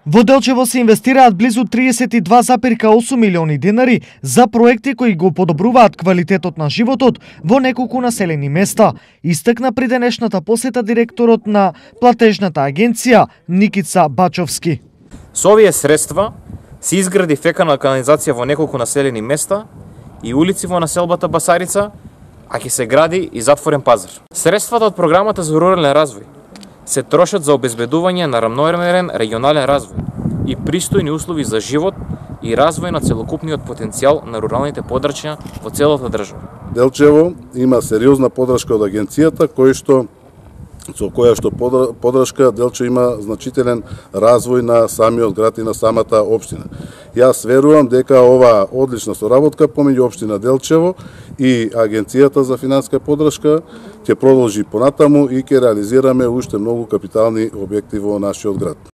Во Делчево се инвестираат близу 32,8 милиони денари за проекти кои го подобруваат квалитетот на животот во неколку населени места, истакна при денешната посета директорот на платежната агенција Никица Бачовски. Со овие средства се изгради фекална канализација во неколку населени места и улици во населбата Басарица, а ќе се гради и затворен пазар. Средствата од програмата за рурален развој се трошат за обезбедување на рамномерен регионален развој и пристојни услови за живот и развој на целокупниот потенцијал на руралните подрачја во целата држава. Делчево има сериозна подршка од агенцијата, со која што подршка Делчево има значителен развој на самиот град и на самата општина. Јас верувам дека ова одлична соработка помеѓу општина Делчево и агенцијата за финансиска подршка ќе продолжи понатаму и ќе реализираме уште многу капитални објекти во нашиот град.